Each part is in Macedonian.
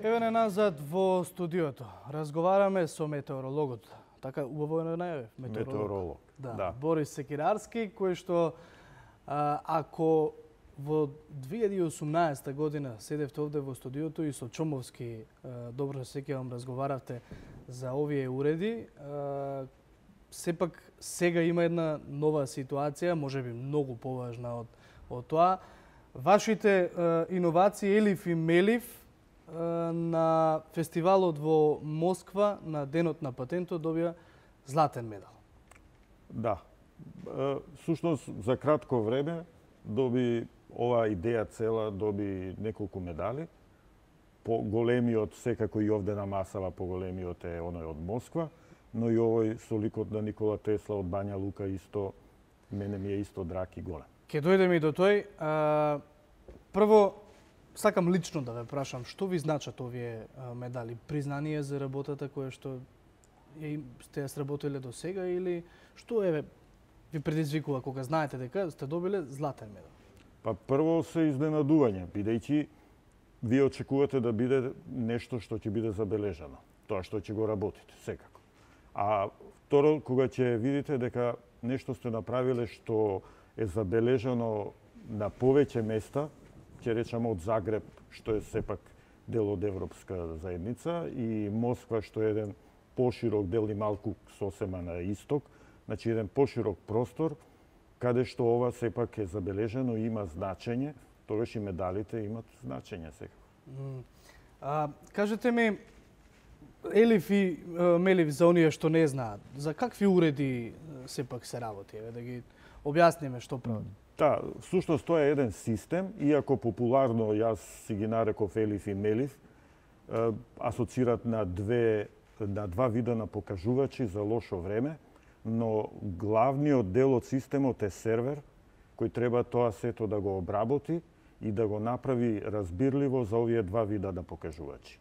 Еве не назад во студиото. Разговараме со метеорологот. Така убаво е најавив, Метеоролог. Да. Борис Секирарски, кој што ако во 2018 година седевте овде во студиото и со Чомовски, добро се сеќавам, разговаравте за овие уреди, сепак сега има една нова ситуација, можеби многу поважна од тоа. Вашите иновации Елиф и Мелиф на фестивалот во Москва на Денот на патентот добија златен медал. Да. Сушност за кратко време доби оваа идеја цела, доби неколку медали. Поголемиот, секако и овде на масава, поголемиот е оној од Москва, но и овој со ликот на Никола Тесла од Бања Лука исто, мене ми е исто драг и голем. Ке дојдеме и до тој. Прво, сакам лично да ве прашам, што ви значат овие медали? Признание за работата која што сте ја сработиле до сега или што ви предизвикува кога знаете дека сте добиле златен медал? Па прво се изненадување, бидејќи вие очекувате да биде нешто што ќе биде забележано, тоа што ќе го работите секако. А второ, кога ќе видите дека нешто сте направиле што е забележано на повеќе места, ќе речеме од Загреб, што е сепак дел од Европска заедница, и Москва, што е еден поширок дел и малку сосема на исток, значи еден поширок простор, каде што ова сепак е забележено и има значење, тогаш и медалите имат значење секако. Кажете ми, Елиф и Мелиф, за оние што не знаат, за какви уреди сепак се работи? Да ги објасниме што прават. Да, всушност тоа е еден систем, иако популарно јас си ги нареков Елиф и Мелиф, асоцират на два вида на покажувачи за лошо време, но главниот дел од системот е сервер, кој треба тоа сето да го обработи и да го направи разбирливо за овие два вида на покажувачи.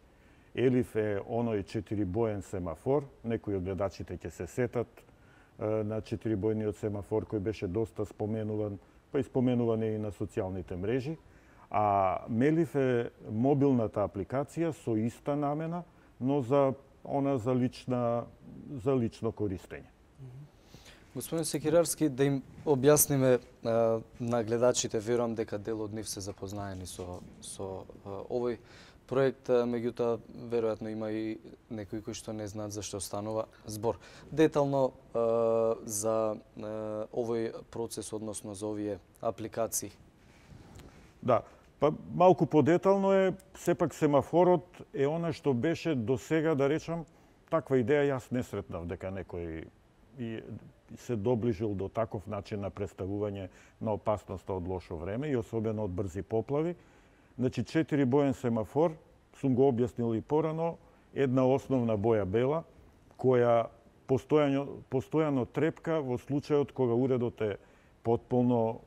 Елиф е оној 4-боен семафор, некои од гледачите ќе се сетат на 4-бојниот семафор кој беше доста споменуван, па и споменуван и на социјалните мрежи, а Мелиф е мобилната апликација со иста намена, но за лично користење. Господин Секирарски, да им објасниме на гледачите, верувам дека дел од нив се запознаени со овој проект, меѓутоа веројатно има и некои кои што не знаат за што станува збор. Детално за овој процес, односно за овие апликации. Да, па малку подетално е, сепак семафорот е она што беше до сега, да речам, таква идеја јас не сретнав дека некој се доближил до таков начин на представување на опасноста од лошо време и особено од брзи поплави. Значи, 4-боен семафор, сум го објаснил и порано, една основна боја бела, која постојано трепка во случајот кога уредот е потполно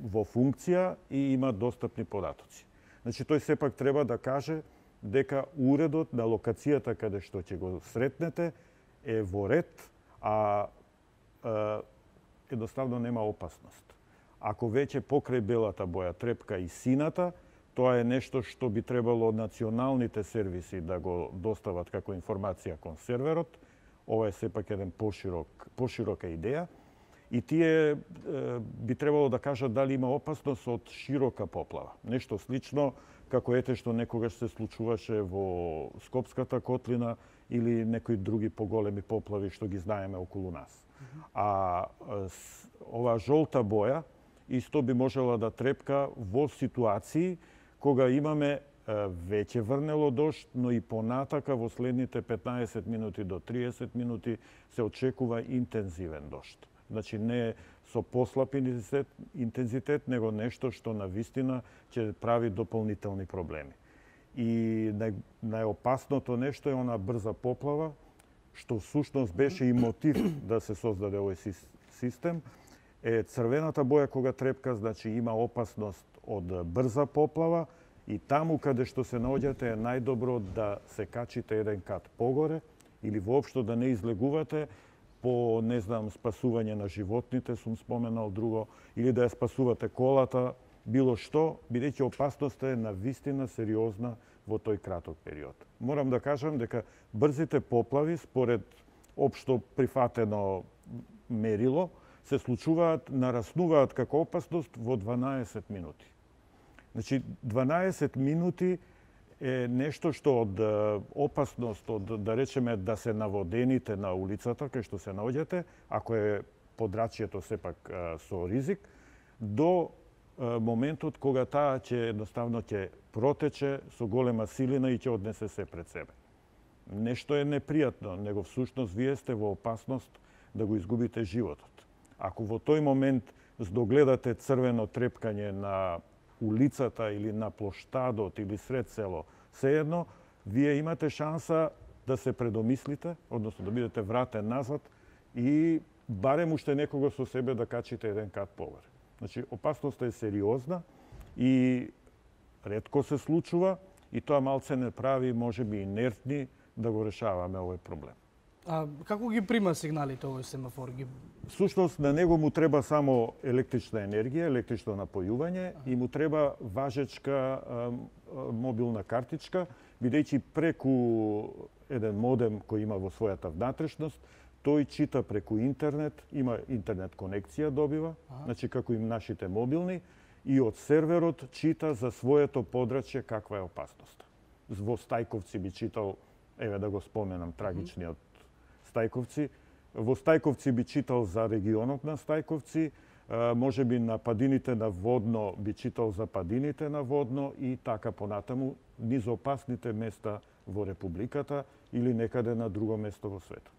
во функција и има достапни податоци. Значи, тој сепак треба да каже дека уредот на локацијата каде што ќе го сретнете е во ред, а едноставно нема опасност. Ако веќе покрај белата боја трепка и сината, тоа е нешто што би требало националните сервиси да го достават како информација кон серверот. Ова е сепак еден поширока идеја. И тие би требало да кажат дали има опасност од широка поплава. Нешто слично како ете што некогаш се случуваше во Скопската котлина или некои други поголеми поплави што ги знаеме околу нас. А оваа жолта боја исто би можела да трепка во ситуации кога имаме веќе врнело дожд, но и понатака во следните 15 минути до 30 минути се очекува интензивен дожд. Значи не со послаб интензитет, него нешто што навистина ќе прави дополнителни проблеми. И најопасното нешто е она брза поплава, што всушност беше и мотив да се создаде овој систем, е црвената боја кога трепка, значи има опасност од брза поплава и таму каде што се наоѓате е најдобро да се качите еден кат погоре или воопшто да не излегувате по, не знам, спасување на животните, сум споменал друго, или да ја спасувате колата, било што, бидејќи опасноста е навистина сериозна во тој краток период. Морам да кажам дека брзите поплави, според општо прифатено мерило, се случуваат, нараснуваат како опасност во 12 минути. Значи, 12 минути е нешто што од опасност, од, да речеме, да се наводените на улицата, кај што се наоѓате, ако е подрачјето сепак со ризик, до моментот кога таа ќе едноставно ќе протече со голема силина и ќе однесе се пред себе. Нешто е непријатно, него всушност вие сте во опасност да го изгубите животот. Ако во тој момент здогледате црвено трепкање на улицата или на плоштадот или сред село, сеедно, вие имате шанса да се предомислите, односно да бидете вратен назад и барем уште некого со себе да качите еден кат повер. Значи, опасноста е сериозна и ретко се случува и тоа малце не прави, можеби, инертни да го решаваме овој проблем. А како ги прима сигналите овој семафор? Всушност, на него му треба само електрична енергија, електрично напојување и му треба важечка мобилна картичка, бидејќи преку еден модем кој има во својата внатрешност, тој чита преку интернет, има интернет конекција добива, значи како и нашите мобилни, и од серверот чита за своето подрачје каква е опасноста. Во Стајковци би читал, еве да го споменам, трагичниот Стајковци. Во Стајковци би читал за регионот на Стајковци, можеби на падините на Водно би читал за падините на Водно и така понатаму низ опасните места во Републиката или некаде на друго место во светот.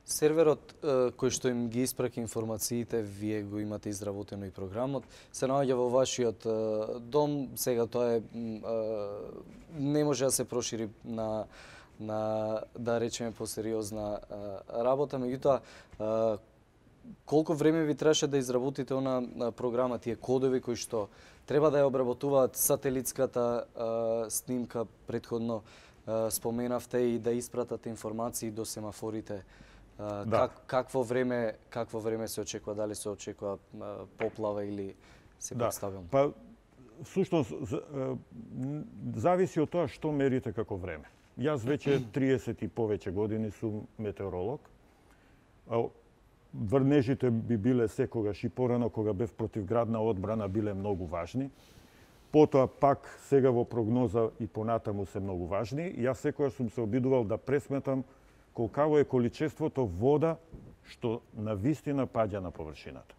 Серверот кој што им ги испраќа информациите, вие го имате изработено и програмот, се наоѓа во вашиот дом. Сега тоа е не може да се прошири на да речеме посериозна работа, меѓутоа колку време ви требаше да изработите она програма, тие кодови кои што треба да ја обработуваат сателитската снимка претходно споменавте и да испратат информации до семафорите. Да. Какво време се очекува, дали се очекува поплава или се представилно? Па всушност зависи од тоа што мерите како време. Јас веќе 30 и повеќе години сум метеоролог. Врнежите би биле секогаш и порано кога бев противградна одбрана биле многу важни. Потоа пак сега во прогноза и понатаму се многу важни. Јас секогаш сум се обидувал да пресметам колкаво е количеството вода што на вистина паѓа на површината.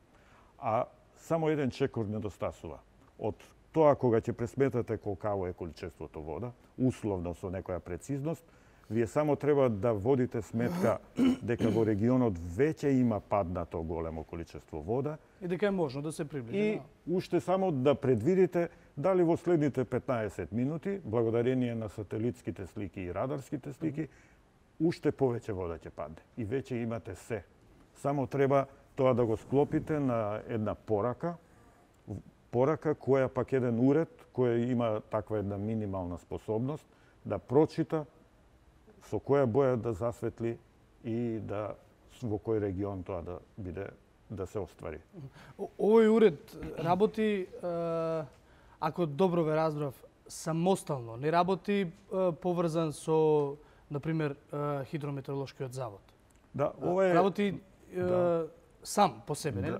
А само еден чекор недостасува. Од тоа кога ќе пресметате колкаво е количеството вода, условно со некоја прецизност, вие само треба да водите сметка дека во регионот веќе има паднато големо количество вода И дека е можно да се приближи. и уште само да предвидите дали во следните 15 минути, благодарение на сателитските слики и радарските слики, уште повеќе вода ќе падне. И веќе имате се. Само треба тоа да го склопите на една порака која пак еден уред кој има таква една минимална способност да прочита со која боја да засветли и да во кој регион тоа да биде да се оствари. Овој уред работи, ако добро ве разбрав, самостално, не работи поврзан со, например, хидрометеоролошкиот завод. Да, ова е Работи сам по себе, не?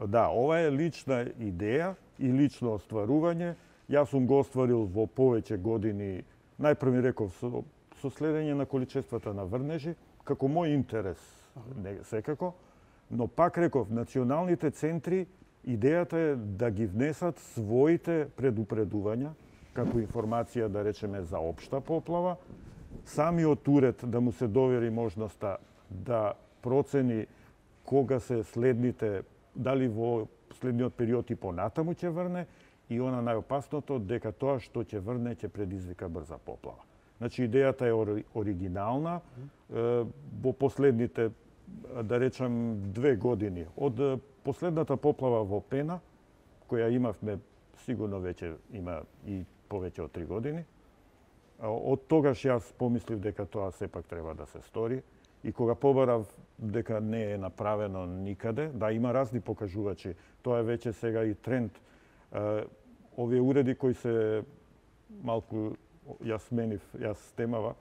Да, ова е лична идеја и лично остварување. Јас сум го остварил во повеќе години, најпрво ми реков со следење на количествата на врнежи, како мој интерес, не секако, но пак реков, националните центри, идејата е да ги внесат своите предупредувања, како информација, да речеме, за општа поплава, самиот уред да му се довери можноста да процени кога се следните, дали во следниот период и понатаму ќе врне, и она најопасното, дека тоа што ќе врне ќе предизвика брза поплава. Значи, идејата е оригинална. Во последните, да речем, 2 години, од последната поплава во Пена, која имавме, сигурно веќе има и повеќе од 3 години, од тогаш јас помислив дека тоа сепак треба да се стори. И кога побарав дека не е направено никаде, да, има разни покажувачи, тоа е веќе сега и тренд. Овие уреди кои се малку јас темава.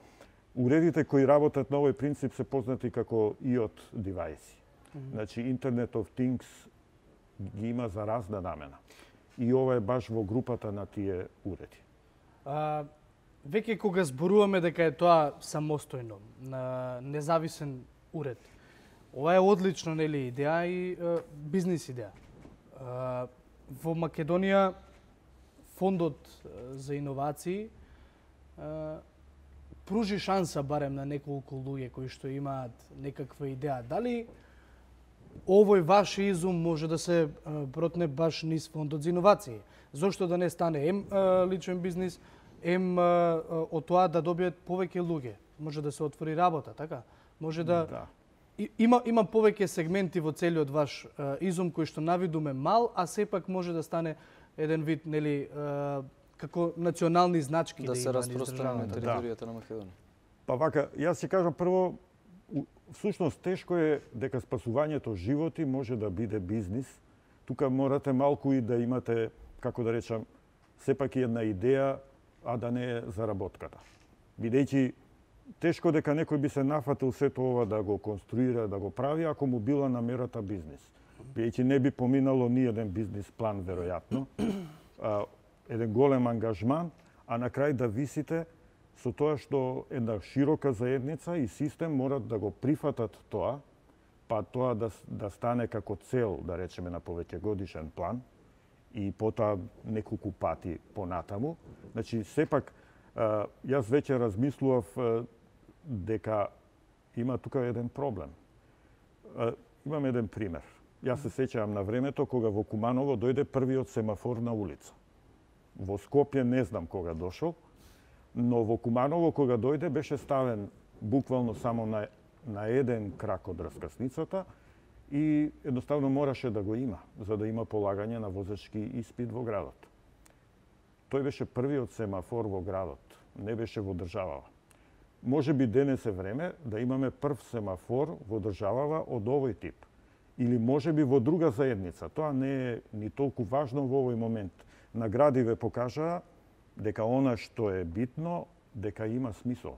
Уредите кои работат на овој принцип се познати како IoT девајси. Значи, Internet of Things ги има за разна намена. И ова е баш во групата на тие уреди. Веќе кога зборуваме дека е тоа самостојно, независен уред, ова е одлично, нели, идеја и бизнис идеја. Во Македонија фондот за иновации пружи шанса барем на неколку луѓе кои што имаат некаква идеја. Дали овој ваш изум може да се протне баш низ фондот за иновации? Зошто да не стане личен бизнис, од тоа да добијат повеќе луѓе? Може да се отвори работа, така? Може да... Има повеќе сегменти во целиот ваш изум кој што навидуме мал, а сепак може да стане еден вид, нели, како национални значки да се распространи на територијата на Македонија. Па вака, јас ќе кажам прво, всушност тешко е дека спасувањето животи може да биде бизнис. Тука морате малку и да имате, како да речам, сепак и една идеја, а да не е заработката. Бидејќи тешко дека некој би се нафатил сето ова да го конструира, да го прави, ако му била намерата бизнис. Бидејќи не би поминало ни еден бизнис план, веројатно, еден голем ангажман, а на крај да висите со тоа што една широка заедница и систем морат да го прифатат тоа, па тоа да стане како цел, да речеме, на повеќегодишен план и потоа неколку пати понатаму. Значи, сепак, јас веќе размислував дека има тука еден проблем. Имам еден пример. Јас се сеќавам на времето кога во Куманово дојде првиот семафор на улица. Во Скопје не знам кога дошол, но во Куманово кога дојде беше ставен буквално само на еден крак од раскасницата и едноставно мораше да го има, за да има полагање на возачки испит во градот. Тој беше првиот семафор во градот, не беше во државава. Може би денес е време да имаме прв семафор во државава од овој тип. Или може би во друга заедница. Тоа не е ни толку важно во овој момент. Наградиве покажаа дека она што е битно, дека има смисол.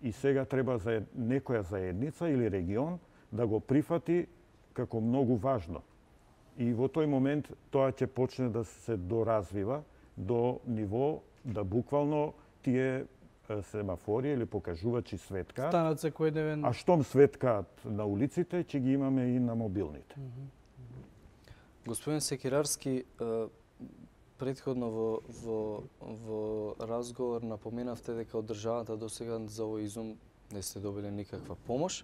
И сега треба за некоја заедница или регион да го прифати како многу важно. И во тој момент тоа ќе почне да се доразвива до ниво да буквално тие семафори или покажувачи светкаат. Станат секојдневен. А штом светкаат на улиците, ќе ги имаме и на мобилните. Господин Секирарски, претходно во разговор напоменавте дека од државата до сега за овој изум не сте добили никаква помош.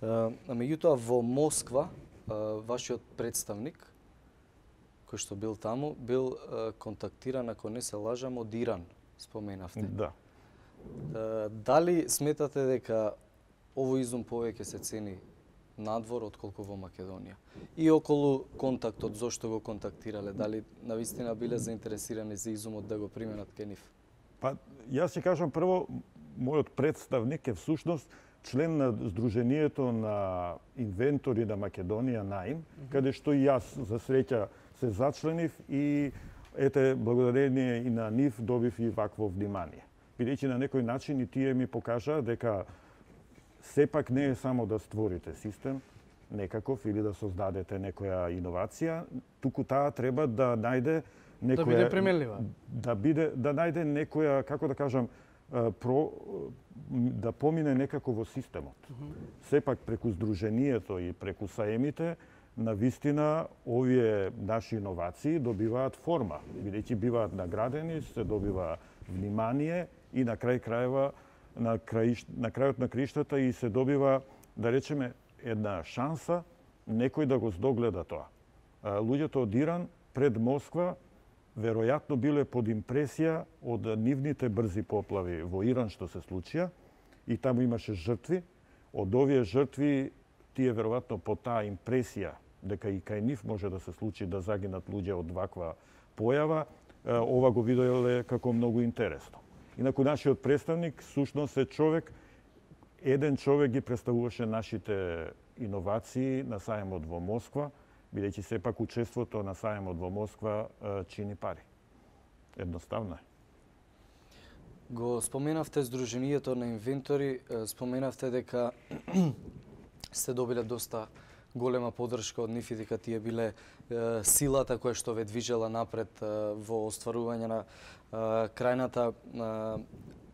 Меѓутоа во Москва вашиот представник кој што бил таму бил контактиран, ако не се лажам, од Иран, споменавте. Да. Дали сметате дека овој изум повеќе се цени надвор отколку во Македонија? И околу контактот, зошто го контактирале? Дали навистина биле заинтересирани за изумот да го применат кај нив? Па, јас ќе кажам прво, мојот представник е всушност член на Сдруженијето на инвентори на Македонија НАИМ, каде што и јас за среќа се зачленив и ете, благодарение и на нив добив и вакво внимание. Бидејќи на некој начин и тие ми покажаа дека сепак не е само да створите систем некаков или да создадете некоја иновација, туку таа треба да најде некоја... Да биде применлива. Да најде некоја, како да кажам, да помине некако во системот. Сепак преку Сдруженијето и преку саемите, навистина овие наши иновации добиваат форма, бидејќи биваат наградени, се добива внимание и на крај крајeva на крајот на криштата и се добива, да речеме, една шанса некој да го здогледа тоа. Луѓето од Иран пред Москва веројатно биле под импресија од нивните брзи поплави во Иран што се случија и таму имаше жртви. Од овие жртви тие веројатно по таа импресија дека и кај нив може да се случи да загинат луѓе од ваква појава, ова го виделе како многу интересно. Инаку нашиот представник сушност е човек, еден човек ги представуваше нашите иновации на саемот во Москва, бидејќи сепак учеството на саемот во Москва чини пари. Едноставно е. Го споменавте Сдруженијето на инвентори, споменавте дека сте добиле доста голема поддршка од нив и дека тие биле силата која што ве движела напред во остварување на крајната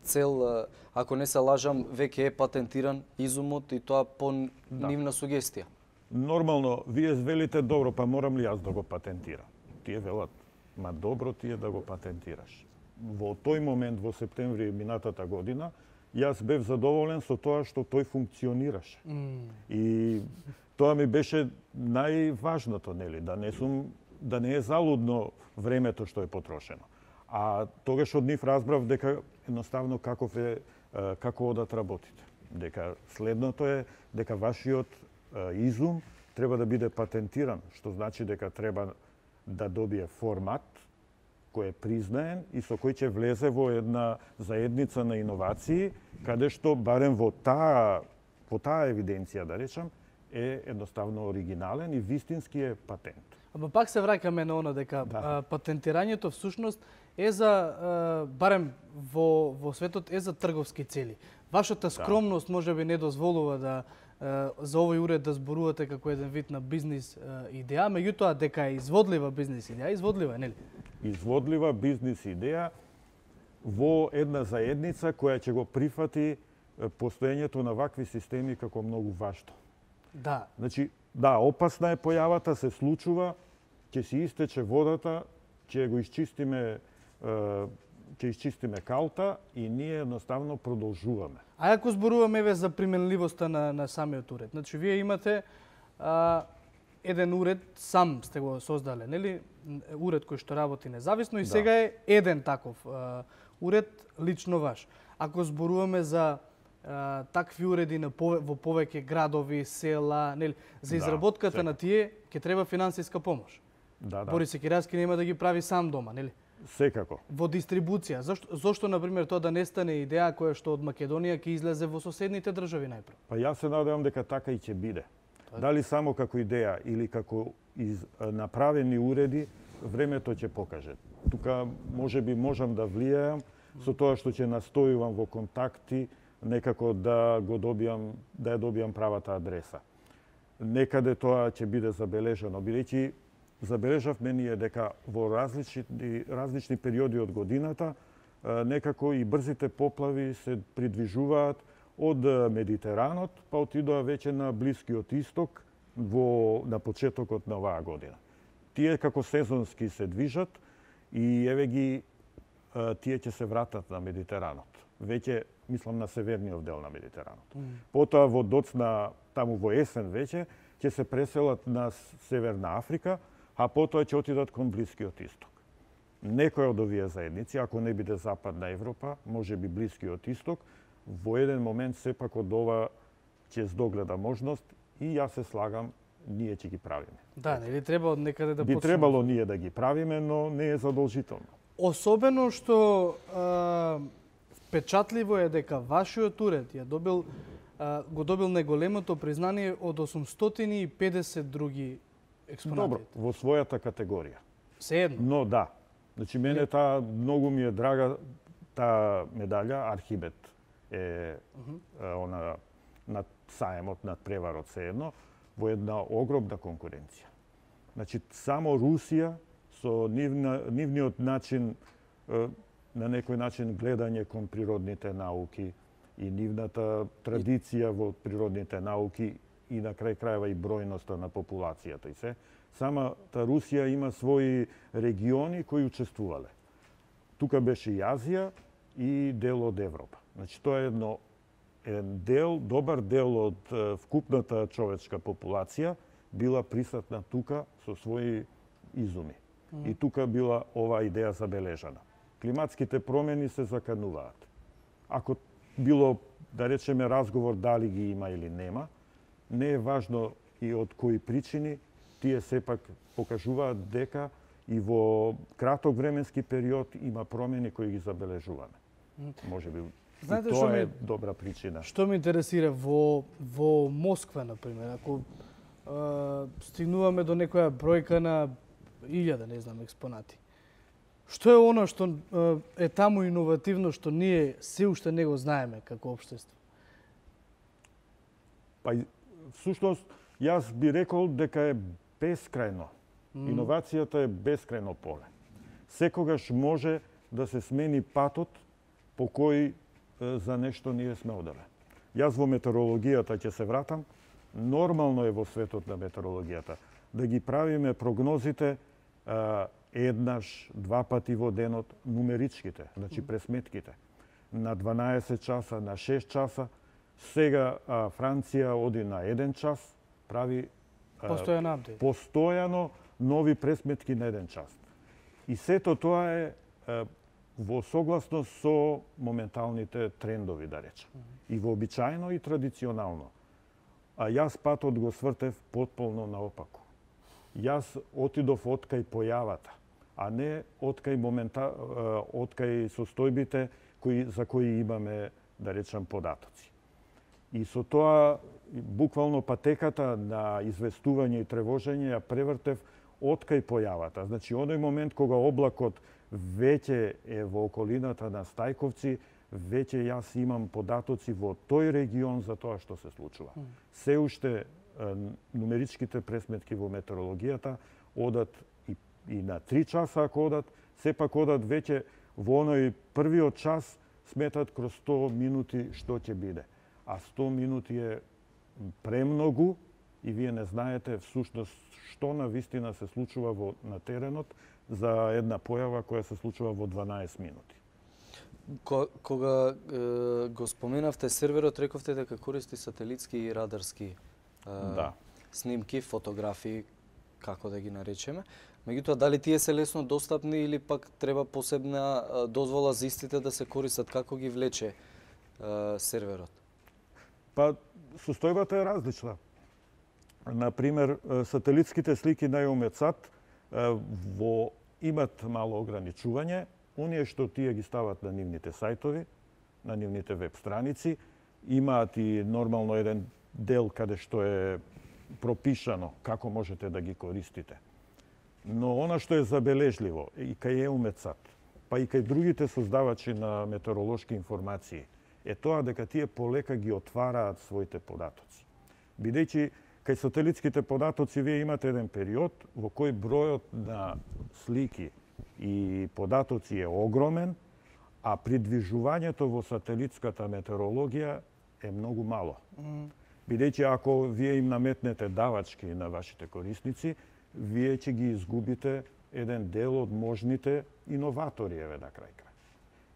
цел. Ако не се лажам, веќе е патентиран изумот и тоа по нивна сугестија. Нормално, вие велите добро, па морам ли јас да го патентирам? Тие велат, ма добро ти е да го патентираш. Во тој момент, во септември минатата година, јас бев задоволен со тоа што тој функционираше. И тоа ми беше најважното, нели, да не е залудно времето што е потрошено. А тогаш од нив разбрав дека едноставно како одат работите. Дека следното е дека вашиот изум треба да биде патентиран, што значи дека треба да добие формат кој е признаен и со кој ќе влезе во една заедница на иновации, каде што барем во таа евиденција, да речам, е едноставно оригинален и вистински е патент. Ама пак се враќаме на оно дека патентирањето всушност е за, барем во светот, е за трговски цели. Вашата скромност можеби не дозволува да за овој уред да зборувате како еден вид на бизнис идеја, меѓутоа дека е изводлива бизнис идеја, изводлива е, нели? Изводлива бизнис идеја во една заедница која ќе го прифати постоењето на вакви системи како многу важно. Да. Значи, да, опасна е појавата, се случува, ќе си истече водата, ќе го изчистиме калта и ние едноставно продолжуваме. А ако зборуваме еве за применливоста на самиот уред, значи вие имате еден уред, сам сте го создале, нели? Уред кој што работи независно и сега е еден таков уред лично ваш. Ако зборуваме за такви уреди во повеќе градови, села, нели, за изработката на тие ќе треба финансиска помош. Борис Секиравски нема да ги прави сам дома, нели? Секако. Во дистрибуција. Зошто, например, тоа да не стане идеја која што од Македонија ќе излезе во соседните држави најпрв? Па јас се надевам дека така и ќе биде. Дали само како идеја или како направени уреди, времето ќе покаже. Тука можеби можам да влијаам со тоа што ќе настојувам во контакти, некако да ја добијам правата адреса. Некаде тоа ќе биде забележано, бидејќи забележавме ние дека во различни периоди од годината некако и брзите поплави се придвижуваат од Медитеранот, па отидоа веќе на Блискиот Исток на почетокот на оваа година. Тие како сезонски се движат и еве ги тие ќе се вратат на Медитеранот. Веќе мислам на северниот дел на Медитеранот. Потоа во доцна таму во есен веќе ќе се преселат на Северна Африка, а потоа ќе отидат кон Блискиот Исток. Некој од овие заедници, ако не биде Западна Европа, можеби Блискиот Исток, во еден момент сепак од ова ќе здогледа можност и јас се слагам, ние ќе ги правиме. Да, нели треба од некаде да би требало ние да ги правиме, но не е задолжително. Особено што впечатливо е дека вашиот уред го добил најголемото признание од 850 други експонати. Добро, во својата категорија. Сеедно. Но да. Значи мене таа многу ми е драга таа медаља, Архибет е она над саемот, над преварот сеедно, во една огромна конкуренција. Значи само Русија со нивниот начин, на некој начин гледање кон природните науки и нивната традиција во природните науки и на крај крајва и бројноста на популацијата и се. Самата Русија има своји региони кои учествувале. Тука беше и Азија и дел од Европа. Значи тоа е еден дел, добар дел од вкупната човечка популација била присутна тука со своји изуми. И тука била оваа идеја забележана. Климатските промени се закануваат. Ако било, да речеме, разговор дали ги има или нема, не е важно и од кои причини, тие сепак покажуваат дека и во краток временски период има промени кои ги забележуваме. Можеби и тоа е добра причина. Што ме интересира во Москва, например, ако стигнуваме до некоја бројка на 1000, не знам, експонати. Што е оно што е таму иновативно, што ние се уште не го знаеме како општество? Па, всушност, јас би рекол дека е бескрајно. Иновацијата е бескрајно поле. Секогаш може да се смени патот по кој за нешто ние сме оделе. Јас во метеорологијата ќе се вратам. Нормално е во светот на метеорологијата да ги правиме прогнозите еднаш, два пати во денот, нумеричките, значи пресметките. На 12 часа, на 6 часа. Сега Франција оди на 1 час, прави постојано нови пресметки на 1 час. И сето тоа е во согласност со моменталните трендови, да речем. И вообичаено и традиционално. А јас патот го свртев потполно наопаку. Јас отидов откај појавата, а не откај состојбите за кои имаме, да речем, податоци. И со тоа, буквално патеката на известување и тревожење ја превртев откај појавата. Значи, оној момент кога облакот веќе е во околината на Стајковци, веќе јас имам податоци во тој регион за тоа што се случува. Се уште нумеричките пресметки во метеорологијата одат и на 3 часа ако одат, сепак одат веќе во оној првиот час сметат кроз 100 минути што ќе биде. А 100 минути е премногу и вие не знаете всушност што на вистина се случува на теренот за една појава која се случува во 12 минути. Кога го споменавте серверот, рековте дека користи сателитски и радарски снимки, фотографии, како да ги наречеме. Меѓутоа, дали тие се лесно достапни или пак треба посебна дозвола за истите да се користат? Како ги влече серверот? Па, состојбата е различна. Например, сателитските слики на EUMETSAT имат мало ограничување. Оние што тие ги стават на нивните сајтови, на нивните веб страници, имаат и нормално еден дел каде што е пропишано како можете да ги користите. Но она што е забележливо и кај EUMETSAT, па и кај другите создавачи на метеоролошки информации, е тоа дека тие полека ги отвараат своите податоци. Бидејќи кај сателитските податоци вие имате еден период во кој бројот на слики и податоци е огромен, а придвижувањето во сателитската метеорологија е многу мало. Бидејќи ако вие им наметнете давачки на вашите корисници, вие ќе ги изгубите еден дел од можните иноватори, еве на крај.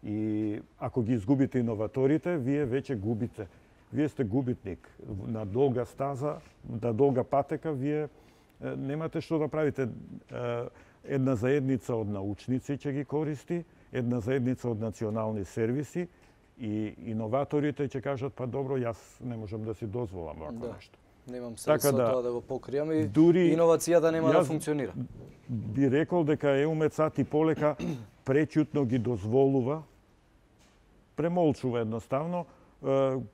И ако ги изгубите иноваторите, вие веќе губите. Вие сте губитник. На долга стаза, на долга патека, вие немате што да правите. Една заедница од научници ќе ги користи, една заедница од национални сервиси и иноваторите ќе кажат, па добро, јас не можам да си дозволам вако нешто. Немам средства тоа да го покријам и иновацијата нема да функционира. Би рекол дека EUMETSAT и полека преќутно ги дозволува, премолчува едноставно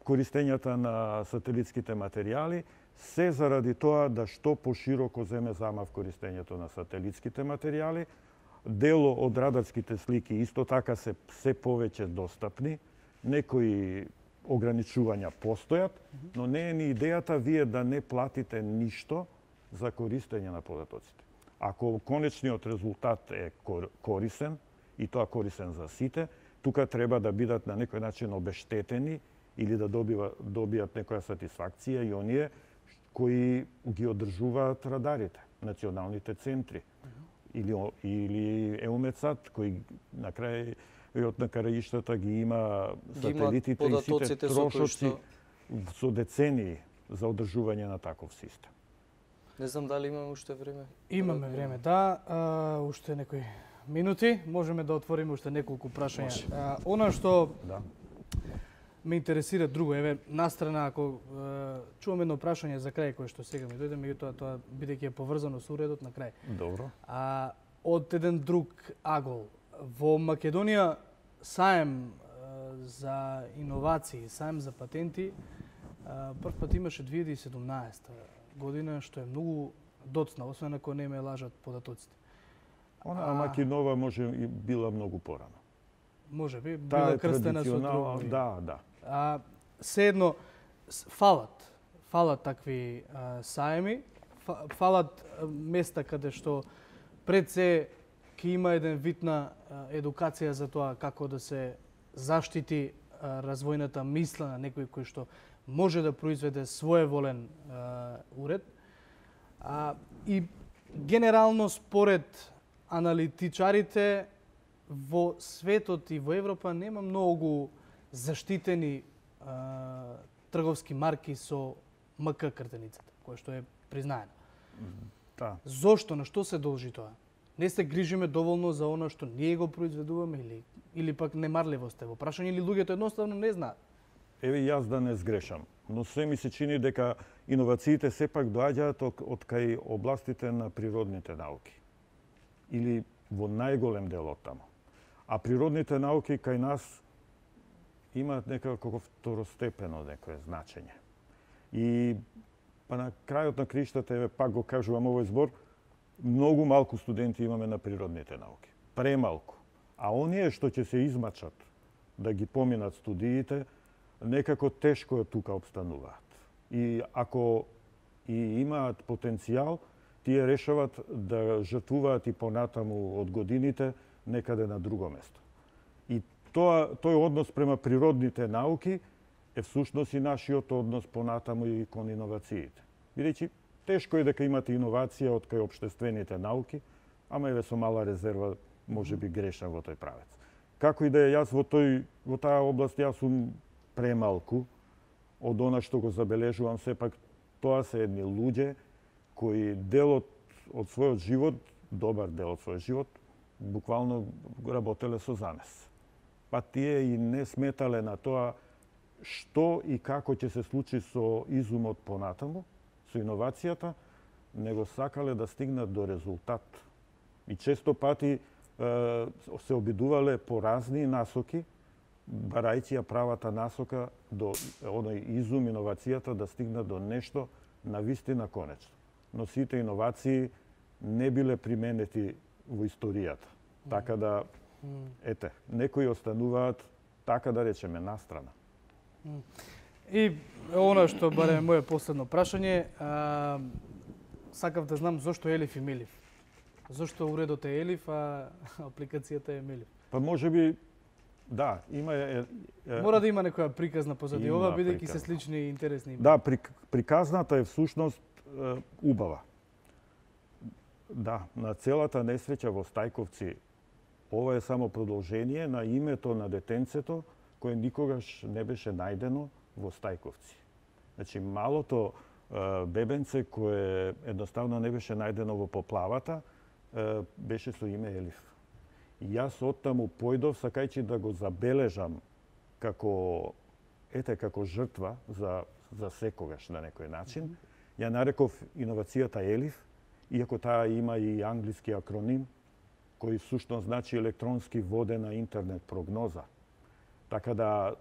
користењата на сателитските материјали, се заради тоа да што пошироко земе замав користењето на сателитските материјали. Дело од радарските слики исто така се повеќе достапни. Некои ограничувања постојат, но не е ни идејата вие да не платите ништо за користење на податоците. Ако конечниот резултат е корисен, и тоа корисен за сите, тука треба да бидат на некој начин обештетени или да добијат некоја сатисфакција и оние кои ги одржуваат радарите, националните центри, или EUMETSAT, кои на крајот на краиштата ги има сателитите и сите трошоци со децении за одржување на таков систем. Не знам дали имаме уште време. Имаме време, да. Уште некои минути. Можеме да отвориме уште неколку прашања. Она што ме интересира друго, еве, настрана, ако чувам едно прашање за крај, кое што сега ми дојде, меѓутоа тоа бидејќи е поврзано со уредот на крај. Добро. Од еден друг агол, во Македонија саем за иновации, саем за патенти, прв пат имаше 2017 година, што е многу доцна, освен ако не ме лажат податоците. Она Макинова може и била многу порано. Може би, била крстена со други. Да. Седно, фалат такви саеми, фалат места каде што пред се ќе има еден вид на едукација за тоа како да се заштити развојната мисла на некој кој што може да произведе своеволен уред. И генерално според аналитичарите во светот и во Европа нема многу заштитени трговски марки со МК картеницата, која што е признаена. Да. Зошто, на што се должи тоа? Не се грижиме доволно за она што ние го произведуваме или пак немарливост е во прашање или луѓето едноставно не знаат? Еве јас да не сгрешам, но се ми се чини дека иновациите сепак доаѓаат од кај областите на природните науки или во најголем дел од таму. А природните науки кај нас имаат некако второстепено некое значење. И па на крајот на криштата, еве пак го кажувам овој збор, многу малку студенти имаме на природните науки. Премалку. А оние што ќе се измачат да ги поминат студиите, некако тешко тука обстануваат. И ако и имаат потенцијал, тие решават да жртвуваат и понатаму од годините некаде на друго место. И тој однос према природните науки е всушност и нашиот однос понатаму и кон иновациите. Бидејќи тешко е дека имате иновација од кај општествените науки, ама еве со мала резерва може би грешам во тој правец. Како и да е, јас во таа област јас сум премалку од она што го забележувам. Сепак тоа се едни луѓе кои делот од својот живот, добар дел од својот живот, буквално работеле со замес. Па тие и не сметале на тоа што и како ќе се случи со изумот понатаму, со иновацијата, него сакале да стигнат до резултат. И често пати се обидувале по разни насоки, барајќи ја правата насока до оној изум, иновацијата да стигнат до нешто навистина конечно. Но сите иновации не биле применети во историјата. Така да, ете, некои остануваат, така да речеме, настрана. И она што барем моје последно прашање, сакав да знам зошто Елиф и Мелиф. Зошто уредот е Елиф, а апликацијата е Мелиф? Па може би, да, има... Мора да има некоја приказна позади ова, бидејќи се слични и интересни. Да, приказната е всушност убава. Да, на целата несреќа во Стајковци, ова е само продолжение на името на детенцето кое никогаш не беше најдено во Стајковци. Значи, малото бебенце кое едноставно не беше најдено во поплавата, беше со име Елиф. И јас оттаму појдов сакајќи да го забележам како жртва за секогаш на некој начин. Ја нареков иновацијата Елиф, иако таа има и англиски акроним, кој всушност значи електронски водена интернет прогноза. Така да,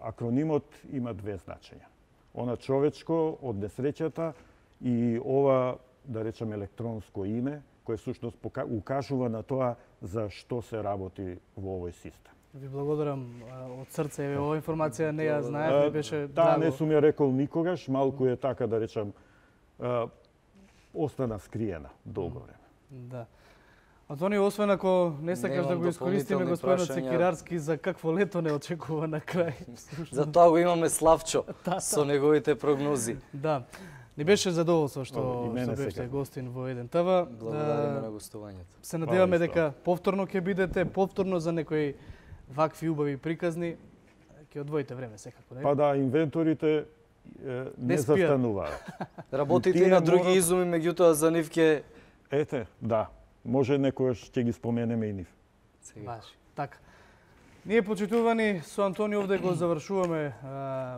акронимот има две значења. Она човечко од несреќата и ова, да речем, електронско име, кое всушност укажува на тоа за што се работи во овој систем. Ви благодарам од срце. Оваа информација не ја знаев, не беше драго. Таа не сум ја рекол никогаш, малку е така да речам остана скриена долго време. Да. Антонио, освен ако не сакаш да го искористиме господинот Секирарски, за какво лето не очекува на крај? За тоа го имаме Славчо со неговите прогнози. Да. Ни беше задоволство што беше гостин во Еден ТВ. Благодариме на гостувањето. Се надеваме дека повторно ќе бидете, повторно за некои вакви убави приказни. Ќе одвоите време секако, не? Па да, инвенторите не застануваат. Работите и на други изуми, меѓутоа за нив ќе... Ете, да. Може некојаш ќе ги споменеме и нив. Баш, така. Ние, почитувани, со Антонио овде го завршуваме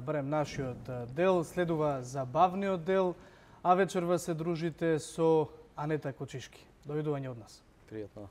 барем нашиот дел. Следува забавниот дел, а вечерва се дружите со Анета Кочишки. Довидување од нас. Пријатно.